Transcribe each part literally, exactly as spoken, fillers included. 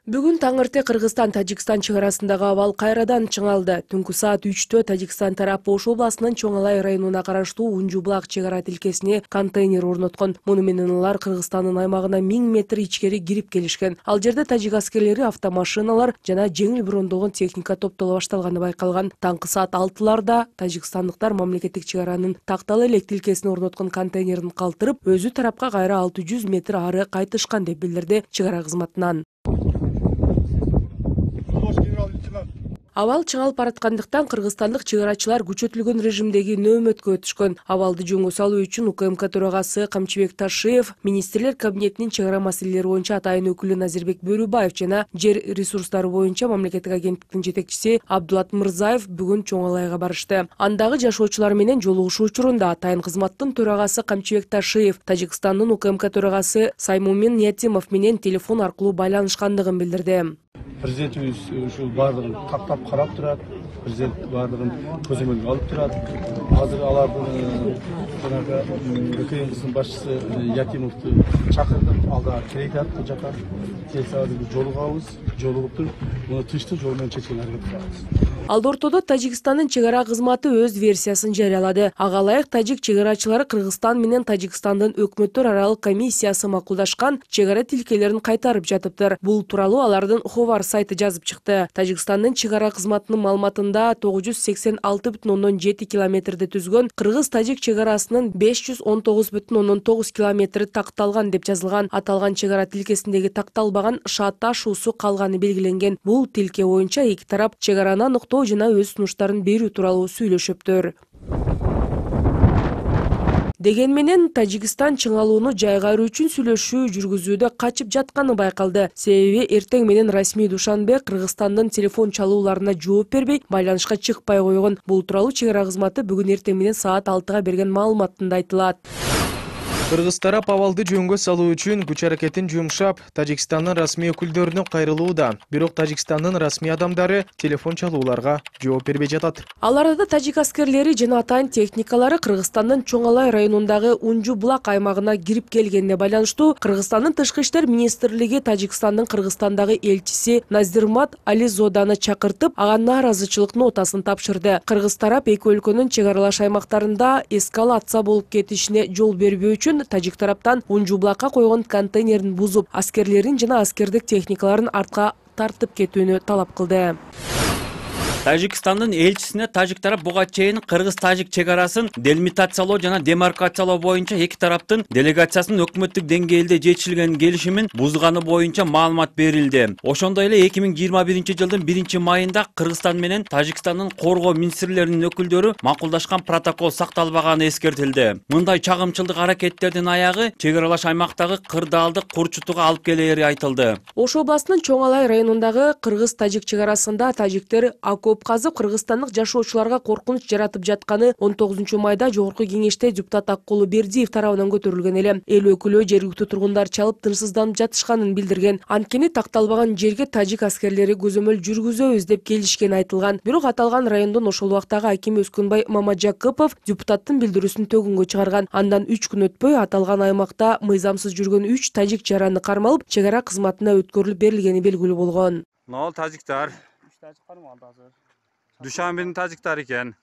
Бүгүн таң эрте Кыргызстан-Тажикстан чек арасындагы абал кайрадан чыңалды. Түнкү саат үчтө Тажикстан тарап Ош областынын Чоң Алай районуна караштуу Унжу-Булак чек ара тилкесине контейнер орноткон. Муну менен алар Кыргызстандын аймагына миң метр ичкери кирип келишкен. Ал жерде тажик аскерлери автомашиналар жана жеңил брондолгон техника топтоло башталганы байкалган. Таңкы саат алтыларда тажикстандыктар мамлекеттик чек аранын тактал элек тилкесине орноткон контейнерин калтырып, өзү тарапка кайра алты жүз метр ары кайтышкан деп билдирди чек ара кызматынан. Абал чыңалып бараткандыктан кыргызстандык чек арачылар күчөтүлгөн режимдеги нөөмөткө өтүшкөн. Абалды жөнгө салуу үчүн УКМК төрагасы Камчыбек Ташиев, министрлер кабинетинин чек ара маселелери боюнча атайын өкүлү Назирбек Бөрүбаев жана жер ресурстары боюнча мамлекеттик агенттиктин жетекчиси Абдулат Мырзаев бүгүн Чоң Алайга барышты. Андагы жашоочулар менен жолугушуу учурунда атайын кызматтын төрагасы Камчыбек Ташиев Тажикстандын УКМК төрагасы Саймумин Ниятимов менен телефон аркылуу байланышкандыгын билдирди. Президентибиз ушул баардыгын тактап карап турат, президент баардыгын көзөмөлгө алып турат. Азыр алардын жанагы УКМКнын башчысы Ятимовду чакырдым, алда келет бул жака. Келсе азыр жолугабыз, жолугуп туруп, муну тынчтык жол менен чечүүнү аракет кылабыз. Ал ортодо Тажикстандын чек ара кызматы өз версиясын жарыялады. Ага ылайык тажик чек арачылары Кыргызстан менен Тажикстандын өкмөттөр аралык комиссиясы макулдашкан чек ара тилкелерин кайтарып жатыптыр. Бул тууралуу алардын Ховар сайты жазып чыкты. Тажикстандын чек ара кызматынын маалыматында тогуз жүз сексен алты бүтүн ондон жети километрди түзгөн кыргыз-тажик чек арасынын беш жүз он тогуз бүтүн ондон тогуз километри такталган деп жазылган. Аталган чек ара тилкесиндеги такталбаган шат ташуусу калганы белгиленген. Бул тилке боюнча эки тарап чек араны аныктоо жана өз сунуштарын берүү тууралуу сүйлөшөптүр. Деген менен Тажикстан чыңалууну жайгаруу үчүн сүйлөшүү жүргүзүүдө качып жатканы байкалды. Себеби эртең менен расмий Душанбе Кыргызстандын телефон чалууларына жооп бербей, байланышка чыкпай койгон. Бул тууралуу чек ара кызматы бүгүн эртең менен саат алтыга берген маалыматында айтылат. Кыргыз тарап абалды жөнгө салуу үчүн күч аракетин жумшап, Тажикстандын расмий өкүлдөрүнө кайрылууда. Бирок Тажикстандын расмий адамдары телефон чалууларга жооп бербей жатат. Ал арада тажик аскерлери жана атайын техникалары Кыргызстандын Чоң Алай районундагы Унжу-Булак аймагына кирип келгенине байланыштуу Кыргызстандын тышкы иштер министрлиги Тажикстандын Кыргызстандагы элчиси Наздирмат Ализоданы чакыртып, ага нааразычылык нотасын тапшырды. Кыргыз тарап эки өлкөнүн чек аралаш аймактарында эскалация болуп кетишине жол бербөө үчүн тажик тараптан Унжу-Булакка койгон контейнерин бузуп, аскерлерин жана аскердик техникаларын артка тартып кетүүнү талап кылды. Тажикстандын элчисине тажик тарап буга чейин кыргыз-тажик чек арасын делимитациялоо жана демаркациялоо боюнча эки тараптын делегациясынын өкмөттүк деңгээлде жетишилген келишимин бузганы боюнча маалымат берилди. Ошондой эле эки миң жыйырма биринчи жылдын биринчи майында Кыргызстан менен Тажикстандын коргоо министрлеринин өкүлдөрү макулдашкан протокол сакталбаганы эскертилди. Мындай чагымчылдык аракеттердин аягы чек аралаш аймактагы кырдаалдык курчутууга алып келери айтылды. Ош областынын Чоң Алай районундагы кыргыз-тажик чек арасында тажиктер окоп казып кыргызстандык жашоочуларга коркунуч жаратып жатканы он тогузунчу майда жогорку кеңеште депутат Аккулу Бердиев тарабынан көтөрүлгөн эле. Эл өкүлү жергиликтүү тургундар чалып тынчсызданып жатышканын билдирген. Анткени такталбаган жерге тажик аскерлери көзөмөл жүргүзөбүз деп келишкени айтылган. Бирок аталган райондон ошол убактагы аким Өскүнбай Мамаджакыпов депутаттын билдирүүсүн төгүнгө чыгарган. Андан үч күн өтпөй аталган аймакта мыйзамсыз жүргөн үч тажик жараны кармалып, чек ара кызматына өткөрүлүп берилгени белгилүү болгон. Нол тажиктар Душанбенин тажиктары экен.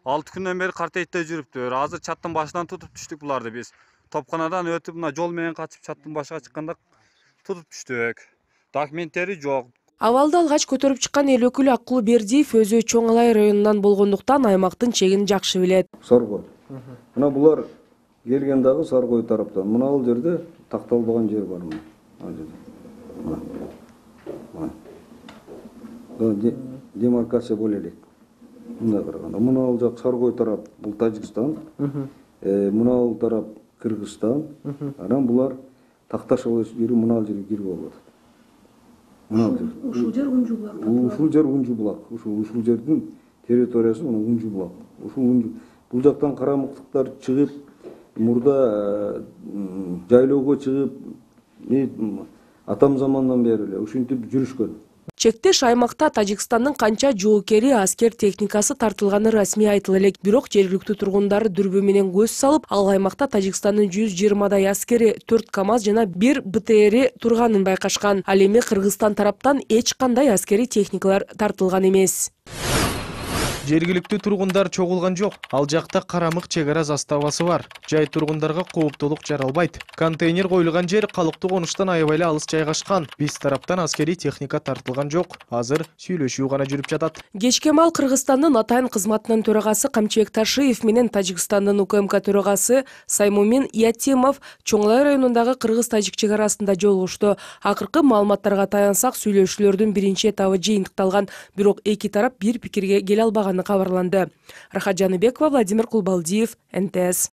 алты күндөн бери картейте жүрүптүр. Азыр чаттын башынан тутуп түштүк буларды биз. Топканадан өтүп, мына жол менен качып чаттын башына чыкканда тутуп түштүк. Документтери жок. Абалды алгач көтөрүп чыккан эл өкүлү Аккулу Бердиев өзү Чоң Алай районунан болгондуктан аймактын чегин жакшы билет. Саргой. Мына булар келген дагы Саргой тараптан. Мына ал жерде такталбаган жер бар мына. Ал жерде. Демаркация боло элек. Мындай караганда, мына ал жак Саргой тарап бул Тажикстан, мына ал тарап Кыргызстан, анан булар такташып жүрүп мына ал жерге кирип алып атат. Мына ал жер. Ушул жер Унжу-Булак. Ушул жер Унжу-Булак. Ушул ушул жердин территориясы мына Унжу-Булак. Ушул Унжу бул жактан карамыктыктар чыгып, мурда жайлоого чыгып, атам замандан бери эле ушинтип жүрүшкөн. Чектеш аймакта Тажикстандын канча жоокери аскер техникасы тартылганы расмий айтыла элек, бирок жергиликтүү тургундар дүрбү менен көз салып, ал аймакта Тажикстандын жүз жыйырмадай аскери, төрт КАМАЗ жана бир БТРи турганын байкашкан. Ал эми Кыргызстан тараптан эч кандай аскери техникалар тартылган эмес. Жергиликтүү тургундар чогулган жок. Ал жакта карамык чек ара заставасы бар. Жай тургундарга кооптулук жаралбайт. Контейнер коюлган жер калыптуу конуштан аябай эле алыс жайгашкан. Биз тараптан аскери техника тартылган жок. Азыр сүйлөшүү гана жүрүп жатат. Кечке маал Кыргызстандын атайын кызматынын төрагасы Камчыбек Ташиев менен Тажикстандын УКМК төрагасы Саймумин Ятимов Чоңлай районундагы кыргыз-тажик чек арасында жолугушту. Акыркы маалыматтарга таянсак, сүйлөшүүлөрдүн биринчи этабы жыйынтыкталган, бирок эки тарап бир пикирге келе албаган кабарланды. Рахат Жаныбекова, Владимир Кулбалдиев, эн тэ эс.